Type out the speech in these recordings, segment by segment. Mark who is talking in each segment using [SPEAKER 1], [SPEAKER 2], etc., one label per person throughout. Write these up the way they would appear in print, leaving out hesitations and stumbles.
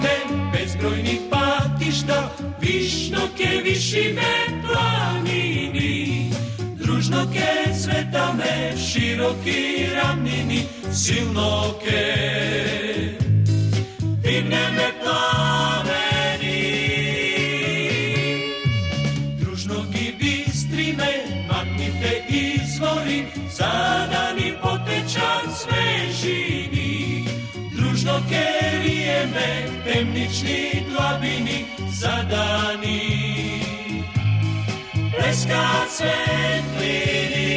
[SPEAKER 1] криеме безбројни патишта, вишно ке вишиме планини. Дружно ке цветаме широки рамнини, силно ке дигнеме пламени. Дружно ги бистриме магните извори, за да ни потечат свежини. Дружно ке риеме темнични длабини, за да ни плескат светлини.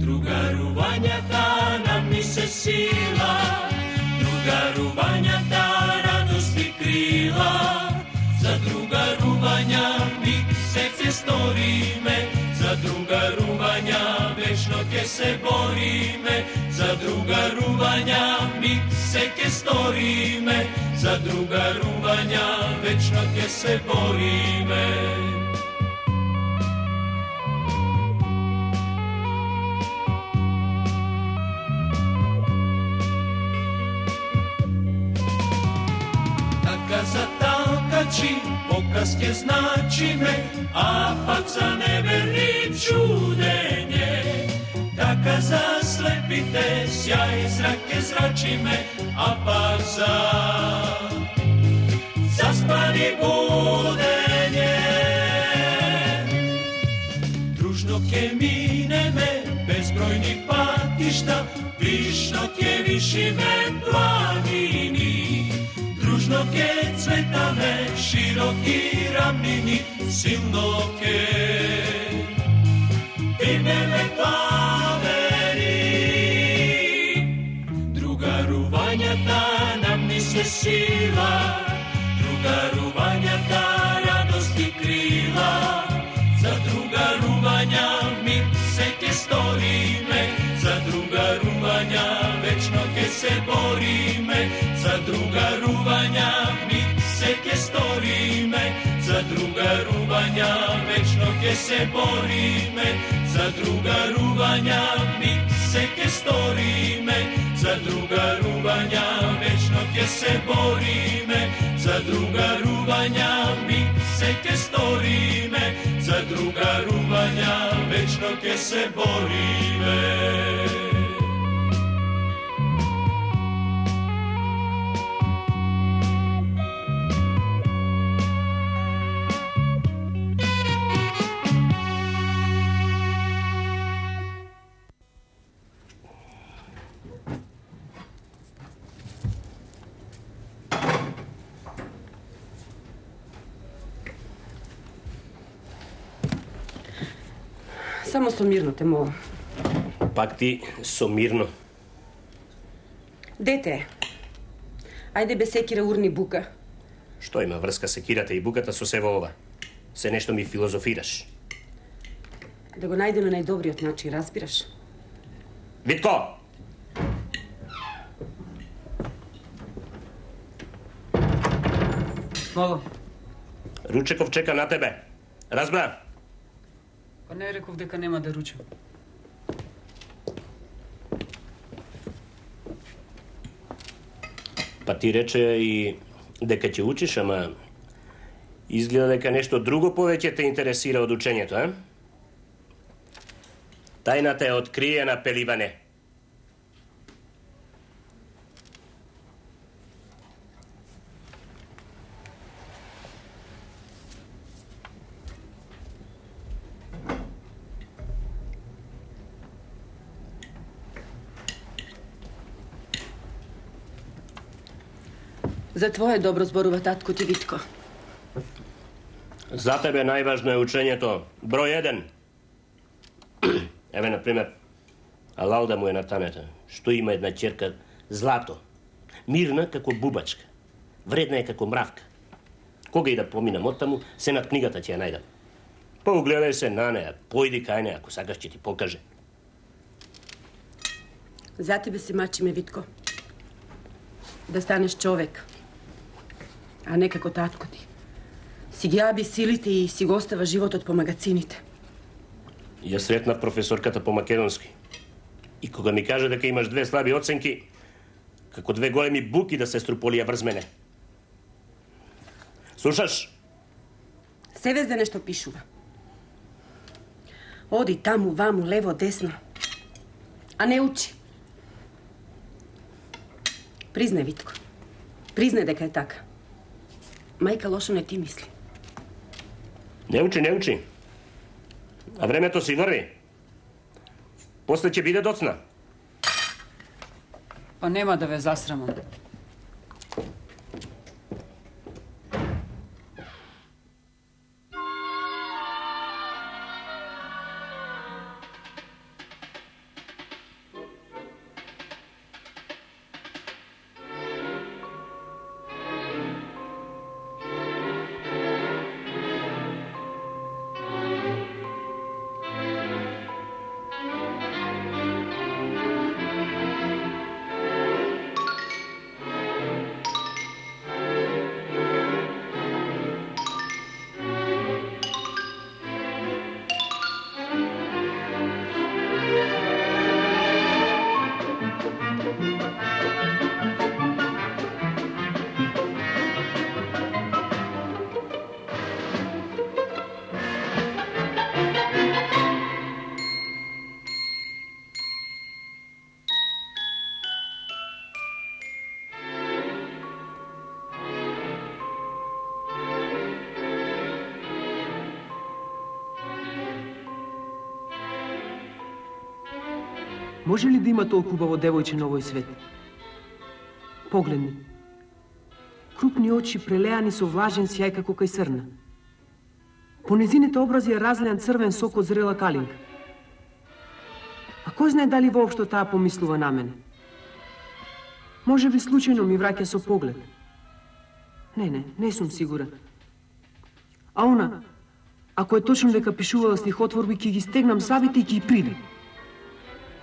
[SPEAKER 1] Другарувањата нам ни се сила, другарувањата радост и крила. За другарувања ми се ке сториме, за другарувања вечно ке се бориме. За другарувања ми се ке сториме, за другарувања вечно ке се бориме. Така за талкачи показ ке значиме, а пак за неверни чудење. Така за слепите сјај зрак ке зрачиме, а пак за заспани будење. Дружно ке минеме безбројни патишта, вишно ке вишиме планини. Дружно ке цветаме широки рамнини, силно ке дигнеме пламени. Другарувањата нам ни се сила, другарувањата радост и крила. За другарувања ми се ке сториме, за другарувања вечно ке се бориме. За другарувања ми се ке сториме, за другарувања вечно ке се бориме. За другарувања ми се ке сториме, за другарувања вечно ке се бориме. За другарувања ми се ке сториме, за другарувања вечно ке се бориме.
[SPEAKER 2] Само со мирно те молам.
[SPEAKER 3] Пак ти со мирно.
[SPEAKER 2] Дете, ајде без секира урни бука.
[SPEAKER 3] Што има врска секирата и буката со сево ова? Се нешто ми филозофираш.
[SPEAKER 2] Да го најдеме најдобриот начин, разбираш?
[SPEAKER 3] Витко!
[SPEAKER 4] Мало.
[SPEAKER 3] Ручеков чека на тебе. Разбра?
[SPEAKER 4] Па не реков дека нема да ручам.
[SPEAKER 3] Па ти рече и дека ќе учиш, ама изгледа дека нешто друго повеќе те интересира од учењето, а? Тајната е откриена, Пеливане.
[SPEAKER 2] За твое добро зборува татко ти, Витко.
[SPEAKER 3] За тебе најважно е учењето. Број 1. Еве, например, Алалда му е на тамета, што има една ќерка злато. Мирна како бубачка. Вредна е како мравка. Кога и да поминам оттаму, се над книгата ќе ја најдам. Поугледај се на неја, појди кај неја, ако сакаш ќе ти покаже.
[SPEAKER 2] За тебе се мачиме, Витко. Да станеш човек, а не како татко ти. Си ги аби силите и си го остава животот по магацините.
[SPEAKER 3] Ја сретнав професорката по македонски. И кога ми кажа дека имаш 2 слаби оценки, Како две големи буки да се струполија врз мене. Слушаш?
[SPEAKER 2] Се везде нешто пишува. Оди таму, ваму, лево, десно. А не учи. Признај, Витко. Признај дека е така. Мајка лошо не ти мисли.
[SPEAKER 3] Не учи. А времето си врви. После ќе биде доцна.
[SPEAKER 4] Па нема да ве засрамам.
[SPEAKER 5] Може ли да има толку убаво девојче на овој свет? Погледни. Крупни очи прелеани со влажен сјај како кај срна. По незините образи е разлеан црвен сок од зрела калинка. А кој знае дали воопшто таа помислува на мене? Може би случајно ми враќа со поглед. Не сум сигурен. А она, ако е точно дека пишувала стихотворби, ќе ги стегнам сабите и ќе ги придам.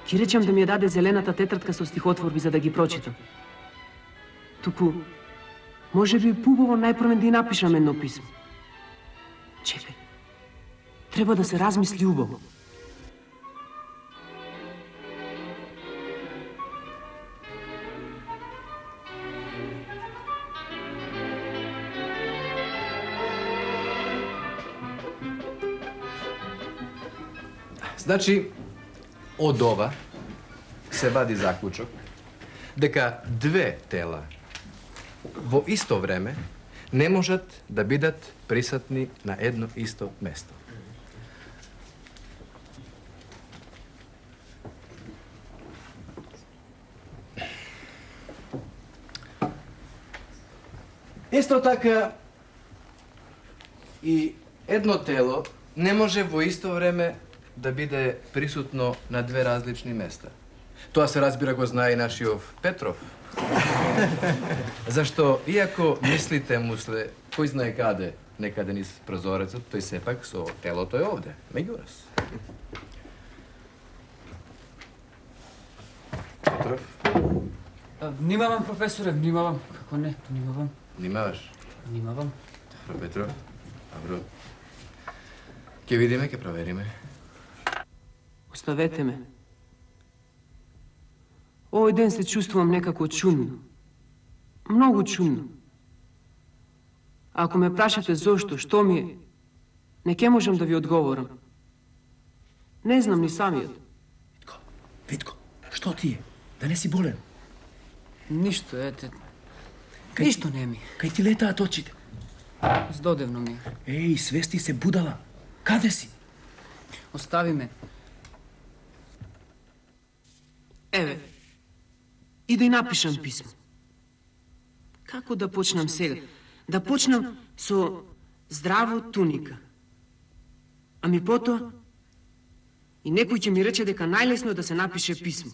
[SPEAKER 5] Ќе речам да ми ја даде зелената тетрадка со стихотворби за да ги прочитам. Туку, може би пубаво најпрвен да и напишам едно писмо. Чекај, треба да се размисли убаво.
[SPEAKER 6] Значи, од ова се вади заклучок дека две тела во исто време не можат да бидат присутни на едно исто место. Исто така и едно тело не може во исто време да биде присутно на две различни места. Тоа се разбира го знае и нашиот Петров. Зашто, иако мислите мусле, кој знае каде, некаде низ прозорецот, тој сепак со телото е овде, меѓу нас. Петров?
[SPEAKER 4] Внимавам, професоре, внимавам. Како не, внимавам.
[SPEAKER 6] Внимаваш?
[SPEAKER 4] Внимавам.
[SPEAKER 6] Добро, Петров. Добро. Ке видиме, ке провериме.
[SPEAKER 5] Оставете ме. Овој ден се чувствувам некако чудно. Многу чудно. Ако ме прашате зошто, што ми е, не ке можам да ви одговорам. Не знам ни самиот.
[SPEAKER 7] Витко, што ти е? Да не си болен?
[SPEAKER 4] Ништо, ете. Ништо не ми.
[SPEAKER 7] Кај ти летаат очите?
[SPEAKER 4] Здодевно ми.
[SPEAKER 7] Еј, свести се будала. Каде си?
[SPEAKER 4] Остави ме.
[SPEAKER 5] Еве, и да и напишам писмо. Како да почнам сега? Да почнам со здраво туника. Ами потоа, и некој ќе ми рече дека најлесно е да се напише писмо.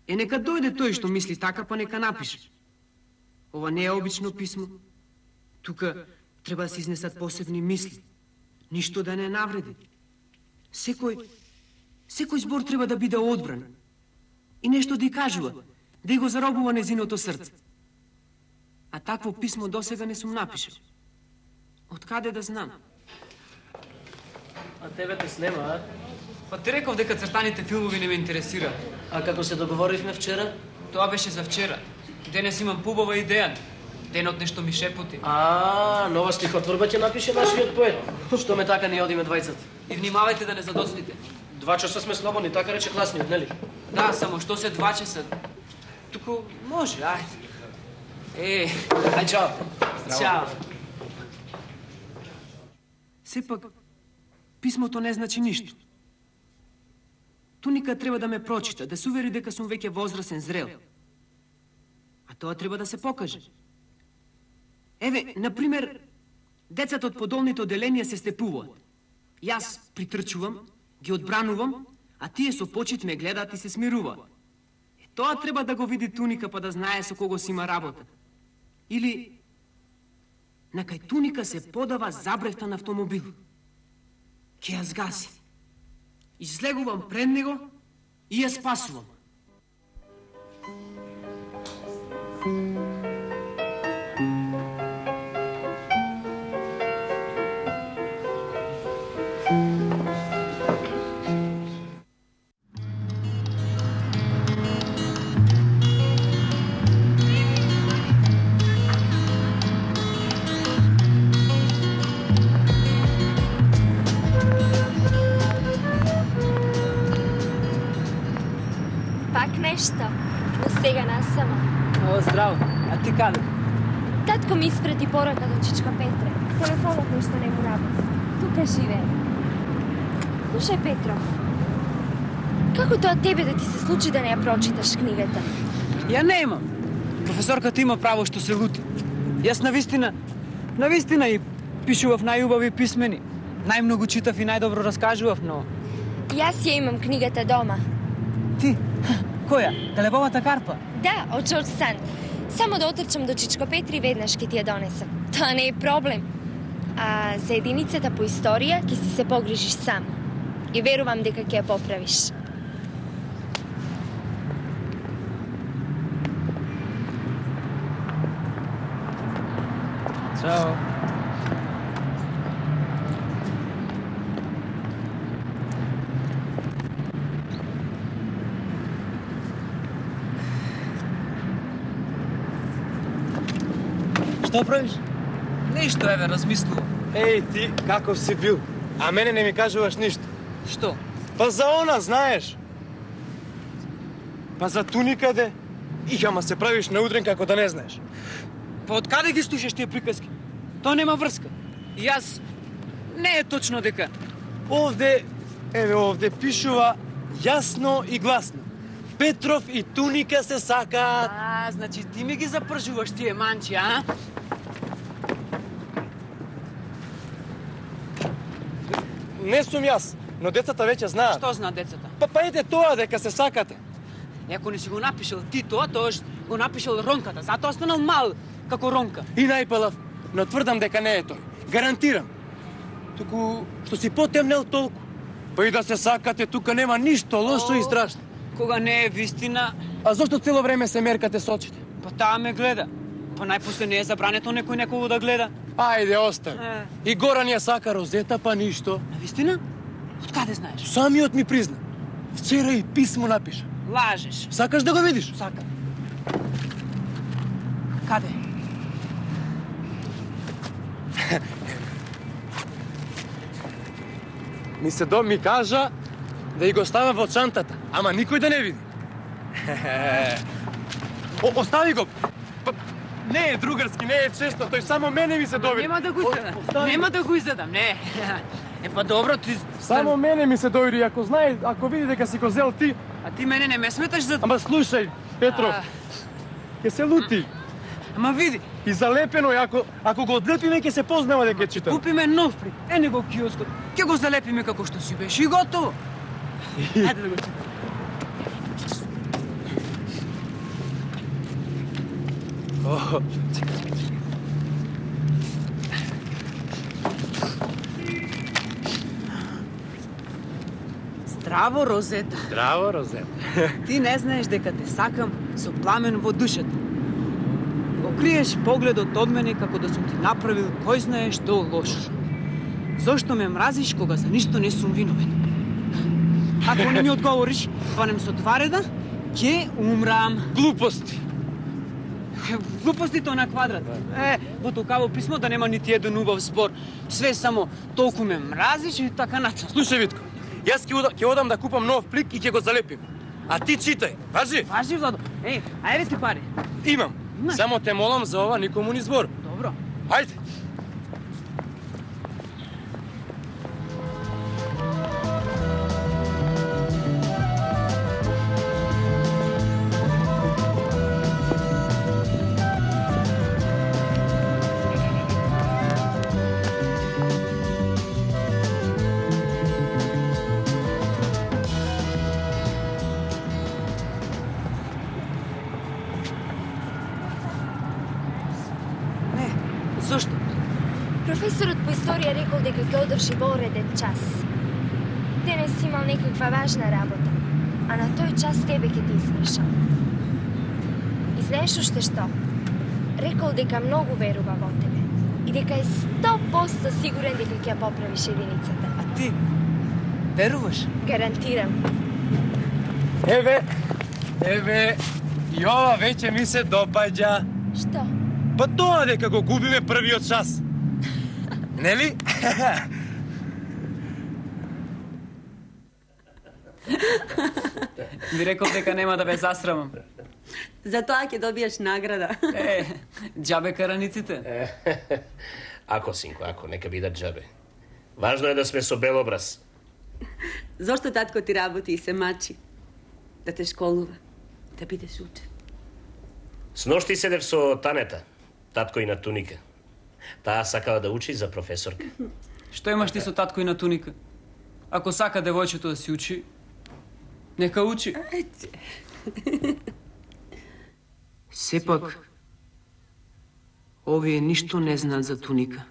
[SPEAKER 5] Нека дојде тој што мисли така, па нека напише. Ова не е обично писмо. Тука треба да се изнесат посебни мисли. Ништо да не навреди. Секој збор треба да биде одбран. И нешто да ја кажува, да ја го заробува незиното срце. А такво писмо досега не сум напишал. Од каде да знам?
[SPEAKER 8] А тебе те снема, а?
[SPEAKER 4] Па ти реков дека цртаните филмови не ме интересира.
[SPEAKER 8] А како се договоривме вчера?
[SPEAKER 4] Тоа беше за вчера. Денес имам пубава идеја. Денот нешто ми шепоти.
[SPEAKER 8] Нова стихотворба ќе напише нашиот поет. Што ме така не одиме двајцата.
[SPEAKER 4] И внимавајте да не задоцните.
[SPEAKER 8] 2 часа сме слободни, така рече класниот, нели?
[SPEAKER 4] Да, само што се 2 часа. Туку може, ајде.
[SPEAKER 8] Ај, чао.
[SPEAKER 4] Чао.
[SPEAKER 5] Сепак, писмото не значи ништо. Туника треба да ме прочита, да се увери дека сум веќе возрасен, зрел. А тоа треба да се покаже. Еве, например, децата од подолните оделенија се степуваат. Јас притрчувам, ги одбранувам, а тие со почит ме гледаат и се смируваат. Тоа треба да го види Туника па да знае со кого си има работа. Или на кај Туника се подава забревтан автомобил. Ке ја згаси. Излегувам пред него и ја спасувам.
[SPEAKER 9] Нешто, но сега насама.
[SPEAKER 5] Здраво, а ти каде?
[SPEAKER 9] Татко ми испрети порака до Чичка Петре. Телефонот нешто не му работи. Тука живее. Слушај, Петров, како тоа тебе да ти се случи да не ја прочиташ книгата?
[SPEAKER 5] Ја не имам. Професорката има право што се лути. Јас навистина и пишував најубави писмени. Најмногу читав и најдобро раскажував, но...
[SPEAKER 9] Јас ја имам книгата дома.
[SPEAKER 5] Ти? Која? Телебовата карпа?
[SPEAKER 9] Да, од Джордж Санд. Само да отрчам до Чичко Петри веднаш ке ти ја донесам. Тоа не е проблем. А за единицата по историја ќе си се погрижиш сам. И верувам дека ќе ја поправиш.
[SPEAKER 5] Чао.
[SPEAKER 10] Што правиш?
[SPEAKER 4] Ништо, еве, размислувам.
[SPEAKER 10] Еј, ти, каков си бил? А мене не ми кажуваш ништо.
[SPEAKER 4] Што?
[SPEAKER 10] Па за она, знаеш. Па за Туника де. Ама се правиш наудрен како да не знаеш.
[SPEAKER 5] Па од каде ги слушаш тие приказки? Тоа нема врска. И јас не е точно дека.
[SPEAKER 10] Овде пишува јасно и гласно. Петров и Туника се сакаат.
[SPEAKER 5] Значи ти ми ги запржуваш тие манчи, а?
[SPEAKER 10] Не сум јас, но децата веќе знаат.
[SPEAKER 5] Што знаат децата?
[SPEAKER 10] Па ете тоа дека се сакате.
[SPEAKER 5] Ако не си го напишал ти тоа го напишал Ронката, затоа останал мал како Ронка.
[SPEAKER 10] И најпалав, но тврдам дека не е тој. Гарантирам. Туку што си потемнел толку. Па и да се сакате, тука нема ништо лошо и страшно.
[SPEAKER 5] Кога не е вистина...
[SPEAKER 10] А зошто цело време се меркате со очите?
[SPEAKER 5] Па таа ме гледа. Па најпосле не е забрането некој некого да гледа.
[SPEAKER 10] Ајде, остави. И Горан ја сака Розета, па ништо.
[SPEAKER 5] На вистина? Од каде знаеш?
[SPEAKER 10] Самиот ми призна. Вчера и писмо напиша.
[SPEAKER 5] Лажеш.
[SPEAKER 10] Сакаш да го видиш?
[SPEAKER 5] Сакам. Каде?
[SPEAKER 10] Ми кажа да и го става во чантата, ама никој да не види. Остави го. Не е другарски, не е често, тој само мене ми се довиди.
[SPEAKER 5] Нема да го изгледам. Нема да го изгледам, не. Па добро, ти...
[SPEAKER 10] Само мене ми се довиди, ако види дека си го зел ти...
[SPEAKER 5] А ти мене не ме сметаш за...
[SPEAKER 10] Ама слушај, Петров, ќе се лути.
[SPEAKER 5] Ама види.
[SPEAKER 10] И залепено е, ако го одлепиме, ќе се познава дека чита.
[SPEAKER 5] Купиме нов прик, не го киоскот. Ќе го залепиме како што си беше и готово. Ајде да го читам. Здраво, Розета.
[SPEAKER 10] Здраво, Розета.
[SPEAKER 5] Ти не знаеш дека те сакам со пламен во душата. Окриеш погледот од мене како да сум ти направил кој знае што лошо. Зошто ме мразиш кога за ништо не сум виновен? Ако не ми одговориш, сванем со 2 реда, ќе умрам.
[SPEAKER 10] Глупости.
[SPEAKER 4] Глупостите на квадрат. Во толкаво писмо да нема нити еден убав збор. Све само толку ме мразиш и така нацо.
[SPEAKER 10] Слушај, Витко, јас ќе одам да купам нов плик и ќе го залепим. А ти читај, важи?
[SPEAKER 4] Важи, Владо. Ајде ти пари.
[SPEAKER 10] Имам. Само те молам за ова никому ни збор.
[SPEAKER 4] Добро.
[SPEAKER 10] Ајде.
[SPEAKER 4] Зошто?
[SPEAKER 9] Професорот по историја рекол дека ќе одржи во уреден час. Денес имал некаква важна работа, а на тој час тебе ќе ти извршал. И знаеш уште што? Рекол дека многу верува во тебе и дека е 100% сигурен дека ќе ја поправиш единицата.
[SPEAKER 4] А ти? Веруваш?
[SPEAKER 9] Гарантирам.
[SPEAKER 10] Еве, и ова веќе ми се допаѓа.
[SPEAKER 9] Што?
[SPEAKER 10] Па тоа дека го губиме првиот час. Нели?
[SPEAKER 4] Ви рекол дека нема да ве засрамам.
[SPEAKER 2] За тоа ќе добиеш награда.
[SPEAKER 4] Џабе караниците.
[SPEAKER 3] Ако, синко, ако, нека бидат џабе. Важно е да сме со бел образ.
[SPEAKER 2] Зошто татко ти работи и се мачи? Да те школува, да бидеш учен.
[SPEAKER 3] Сношти седев со Танета, татко и на Туника. Таа сакала да учи за професорка.
[SPEAKER 4] Што имаш ти со татко и на Туника? Ако сака девојчето да си учи, нека учи.
[SPEAKER 5] Сепак, овие ништо не знаат за Туника.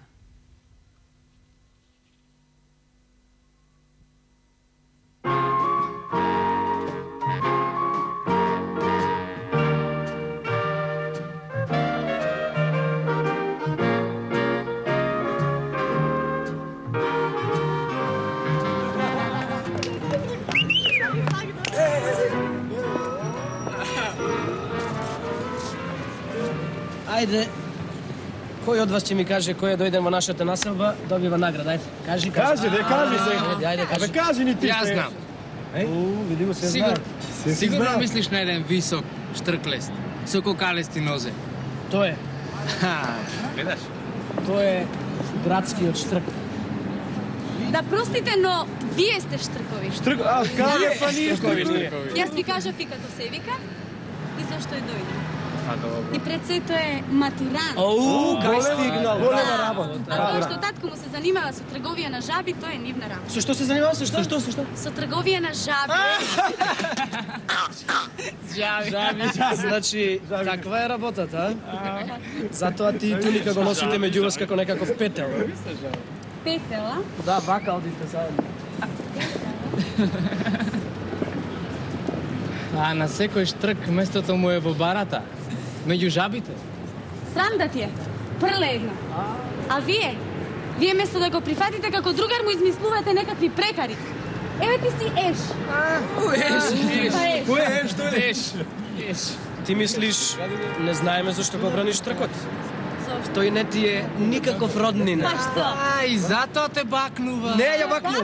[SPEAKER 8] Ајде, кој од вас ќе ми каже кој дојде во нашата населба, добива награда. Ајде, кажи.
[SPEAKER 11] Кажи се.
[SPEAKER 8] Ајде, кажи.
[SPEAKER 11] Кажи ни ти.
[SPEAKER 12] Јас знам.
[SPEAKER 11] Видимо се
[SPEAKER 12] Сигурно,
[SPEAKER 11] знае.
[SPEAKER 12] сигурно мислиш на еден висок штрклест, со кокалести нозе.
[SPEAKER 8] Тој е.
[SPEAKER 12] Гледаш?
[SPEAKER 8] Тој е градскиот штрк.
[SPEAKER 13] Да простите, но вие сте штркови.
[SPEAKER 11] Каде па ние штркови?
[SPEAKER 13] Јас ви кажав и како се вика и зашто е дојде.
[SPEAKER 12] А, добро.
[SPEAKER 13] И пред сето е матурант.
[SPEAKER 8] Кај стигнал?
[SPEAKER 11] Голема работа.
[SPEAKER 13] А тоа што татко му се занимава со трговија на жаби, тоа е нивна работа.
[SPEAKER 8] Со што се занимава? Со што?
[SPEAKER 13] Со трговија на жаби.
[SPEAKER 8] Жаби. Значи, таква е работата, а? Затоа ти и Туника го носите меѓу вас како некаков петел.
[SPEAKER 13] Петела?
[SPEAKER 8] Да, вака одите заедно.
[SPEAKER 12] А на секој штрк местото му е во барата, меѓу жабите.
[SPEAKER 13] Срам да ти е. Прле едно. А вие? Вие место да го прифатите како другар му измислувате некакви прекари. Еве ти си Еш.
[SPEAKER 8] Кој е Еш? Тој е Еш. Ти мислиш, не знаеме зашто го браниш штркот? Тој не ти е никаков роднина.
[SPEAKER 13] Па што?
[SPEAKER 12] Ај, затоа те бакнува.
[SPEAKER 8] Не, ја бакнува.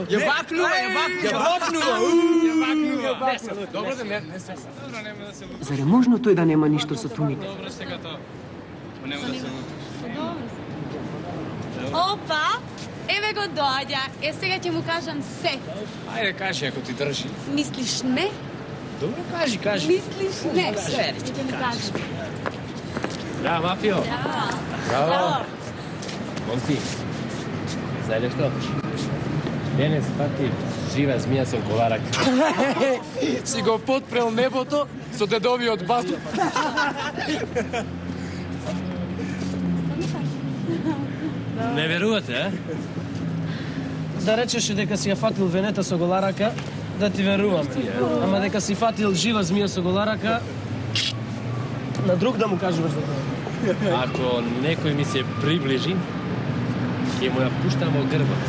[SPEAKER 12] Добро да не се. Добро, нема да се.
[SPEAKER 5] Зар е можно тој да нема ништо со Туника?
[SPEAKER 12] Добро сега тоа. Нема да се.
[SPEAKER 13] Опа! Еве го доаѓа. Сега ќе му кажам се.
[SPEAKER 12] Ајде, кажи ако ти држи.
[SPEAKER 13] Мислиш не?
[SPEAKER 12] Добро, кажи.
[SPEAKER 13] Мислиш не? Ќе ми кажеш.
[SPEAKER 12] Браво, Мафио. Браво. Момци, знаете што? Денес пати жива змија со коларак.
[SPEAKER 10] Си го потпрел небото со дедовиот баздук.
[SPEAKER 8] Не верувате, а? Да речеше дека си ја фатил венета со голарака, да ти верувам. Ама дека си фатил жива змија со голарака, на друг да му кажуваш за тоа.
[SPEAKER 12] Ако некој ми се приближи, ќе му ја пуштам во грбот.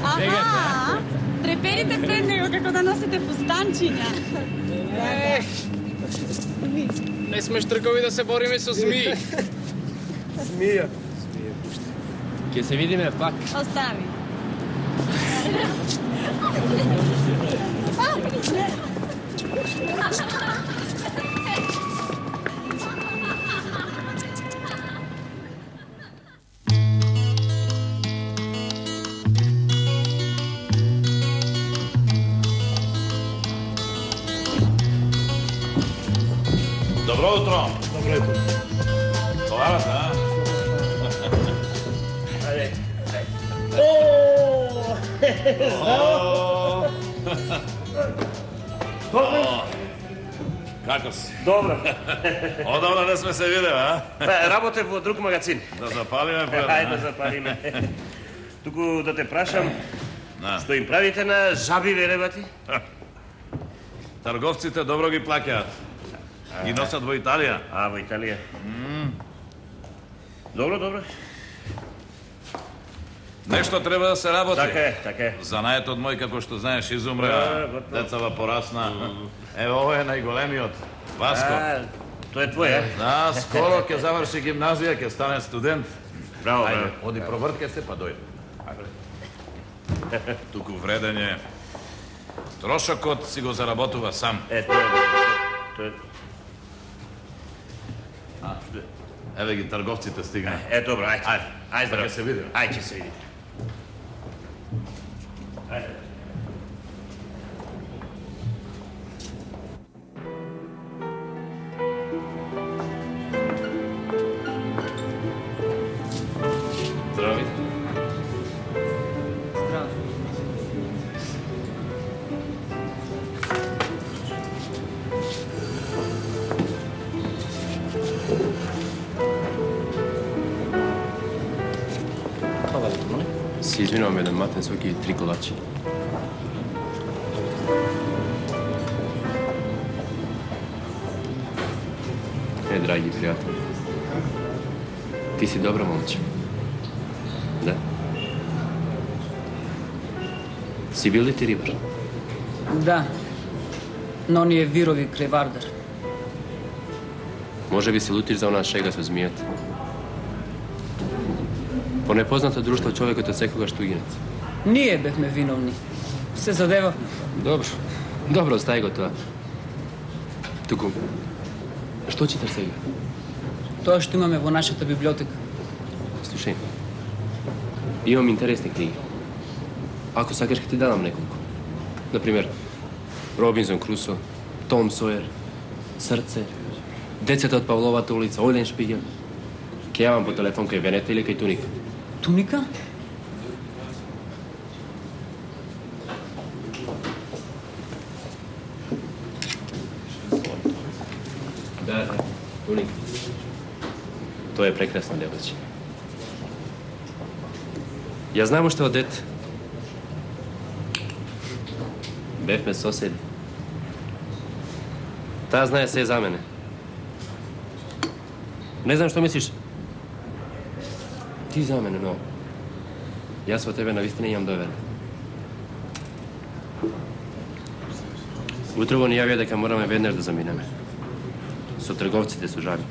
[SPEAKER 13] Аха! треперите пред него како да носите фустанчиња.
[SPEAKER 12] Не сме штркови да се бориме со змии.
[SPEAKER 11] Змија.
[SPEAKER 12] Ке се видиме пак.
[SPEAKER 13] Остави.
[SPEAKER 14] Добро утро.
[SPEAKER 11] Добро утро.
[SPEAKER 14] Товарата, а?
[SPEAKER 3] Ајде.
[SPEAKER 14] Како си?
[SPEAKER 3] Добро.
[SPEAKER 14] Одавна не сме се видели, а?
[SPEAKER 3] Работев во друг магазин.
[SPEAKER 14] Да запалиме пред.
[SPEAKER 3] Ајде да запалиме. Туку да те прашам, што им правите на жаби веревати?
[SPEAKER 14] Трговците добро ги плаќаат. Ги носат во Италија.
[SPEAKER 3] А, во Италија. Добро, добро.
[SPEAKER 14] Нешто треба да се работи.
[SPEAKER 3] Така е.
[SPEAKER 14] Занаетот мој, како што знаеш, изумре, децава порасна. Ево, ово е најголемиот. Васко.
[SPEAKER 3] Тоа е твој,
[SPEAKER 14] Да, скоро ќе заврши гимназија, ќе стане студент.
[SPEAKER 3] Браво,
[SPEAKER 14] Ајде, оди провртке се, па дојде. Туку вреден е. Трошокот си го заработува сам.
[SPEAKER 3] Тоа е.
[SPEAKER 14] Еве ги трговците стигна.
[SPEAKER 3] Добро, ајде. Ајде, здраво.
[SPEAKER 14] Ќе се видиме.
[SPEAKER 3] Ајде, ќе се видиме. Ајде.
[SPEAKER 12] Здрави.
[SPEAKER 4] Здраво.
[SPEAKER 12] Се извинувам, еден матен сок и 3 колачи. Драги пријатели, ти си добро момче. Да? Си бил ли ти рибар?
[SPEAKER 4] Да, но ни е вирови кревардар.
[SPEAKER 12] Може би се лутиш за онаа шега со змијата. По непознато друштво човекот од секогаш тугинец.
[SPEAKER 4] Ние бевме виновни. Се задевавме.
[SPEAKER 12] Добро, остави го тоа. Туку, што читаш сега?
[SPEAKER 4] Тоа што имаме во нашата библиотека.
[SPEAKER 12] Слушај, имам интересни книги. Ако сакаш, ќе ти дадам неколку. Например, Робинзон Крусо, Том Сојер, Срце, Децата од Павловата улица, Ојлен Шпигел. Ќе јавам по телефон кај Венета или кај Туника.
[SPEAKER 4] Туника?
[SPEAKER 12] Да, Туника. Тоа е прекрасна девојче. Ја знам уште од дете. Бевме соседи. Таа знае се за мене. Не знам што мислиш. Ти за мене, но јас во тебе навистина имам доверие. Утрово ни јавија дека мораме веднаш да заминеме. Со трговците со жаби.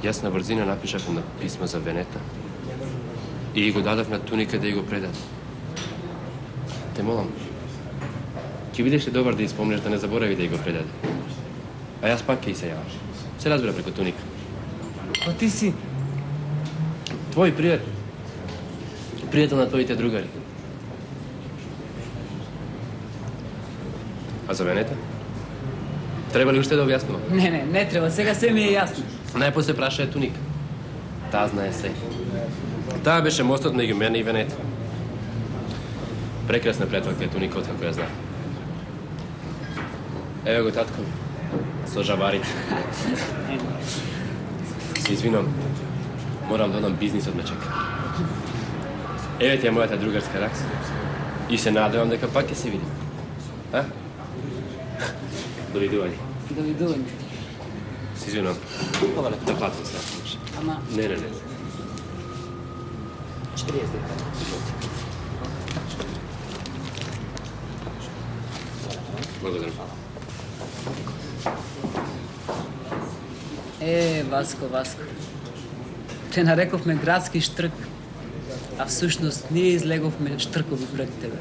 [SPEAKER 12] Јас на брзина напишав на писмо за Венета и го дадав на Туника да ја го предаде. Те молам, ќе бидеш ли добар да испомнеш да не заборави да ја го предаде? А јас пак ќе се јавам. Се разбира преку Туника.
[SPEAKER 4] А ти си?
[SPEAKER 12] Твој пријател. Пријател на твоите другари. А за Венета? Треба ли уште да објаснувам?
[SPEAKER 4] Не треба, сега се ми е јасно.
[SPEAKER 12] Најпосле праша е Туника. Таа знае се. Таа беше мостот меѓу мене и Венета. Прекрасна пријателка е Туника, откако ја знам. Еве го татко, со жабарите. Се извинувам, морам да одам, бизнисот ме чека. Еве ти е мојата другарска ракса. И се надевам дека пак ќе се видим. А? Довидување.
[SPEAKER 4] Довидување.
[SPEAKER 12] Се извинувам. Да платам се.
[SPEAKER 4] Ама...
[SPEAKER 12] Не.
[SPEAKER 4] 40 дека.
[SPEAKER 12] Благодарам.
[SPEAKER 15] Васко. Те нарековме градски штрк, а всушност ние излеговме штркови пред тебе.